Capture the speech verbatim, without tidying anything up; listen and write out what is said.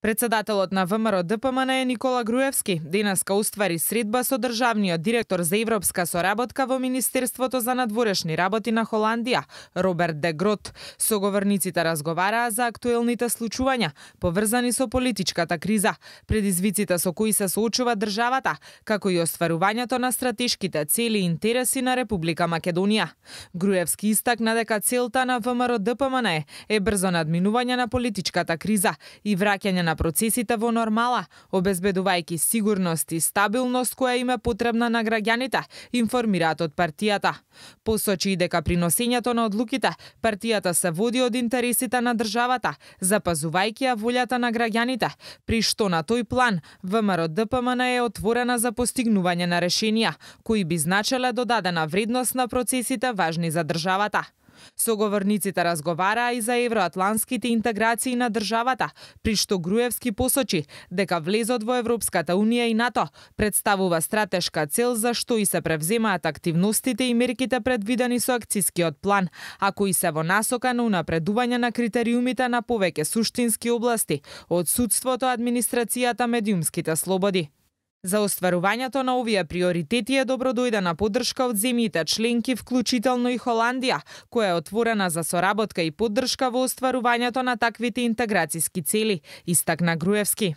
Председателот на ВМРО Д П М Н Никола Груевски денеска уствари средба со државниот директор за европска соработка во Министерството за надворешни работи на Холандија, Роберт де Грот. Соговорниците разговараа за актуелните случувања поврзани со политичката криза, предизвиците со кои се соочува државата, како и остварувањето на стратешките цели и интереси на Република Македонија. Груевски истакна дека целта на ВМРО Д П М Н е брзо надминување на политичката криза и враќање на процесите во нормала, обезбедувајќи сигурност и стабилност која им е потребна на граѓаните, информираат од партијата. Посочи и дека при носењето на одлуките, партијата се води од интересите на државата, запазувајќи ја волјата на граѓаните, при што на тој план ВМРО Д П М Н е отворена за постигнување на решенија, кои би значеле додадена вредност на процесите важни за државата. Соговорниците разговараа и за евроатлантските интеграции на државата, при што Груевски посочи дека влезот во Европската унија и НАТО представува стратешка цел за што и се превземаат активностите и мерките предвидени со акцискиот план, а кои се во насока на унапредување на критериумите на повеќе суштински области, од судството, администрацијата, медиумските слободи. За остварувањето на овие приоритети е добродојдена поддршка од земјите членки, вклучително и Холандија, која е отворена за соработка и поддршка во остварувањето на таквите интеграцијски цели, истакна Груевски.